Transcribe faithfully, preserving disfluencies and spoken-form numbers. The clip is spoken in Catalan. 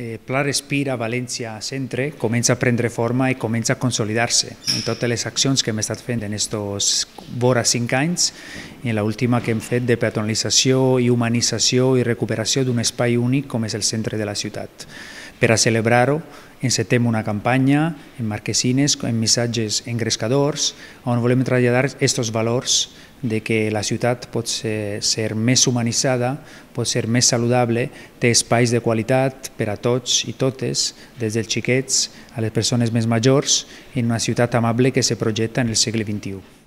eh, Pla Respira València Centre comença a prendre forma i comença a consolidar-se en totes les accions que hem estat fent en aquests vora cinc anys i en l'última que hem fet de peatonalització i humanització i recuperació d'un espai únic com és el centre de la ciutat. Per a celebrar-ho, encetem una campanya en marquesines, en missatges engrescadors, on volem traslladar aquests valors de que la ciutat pot ser, ser més humanitzada, pot ser més saludable, té espais de qualitat per a tots i totes, des dels xiquets a les persones més majors, en una ciutat amable que se projecta en el segle vint-i-u.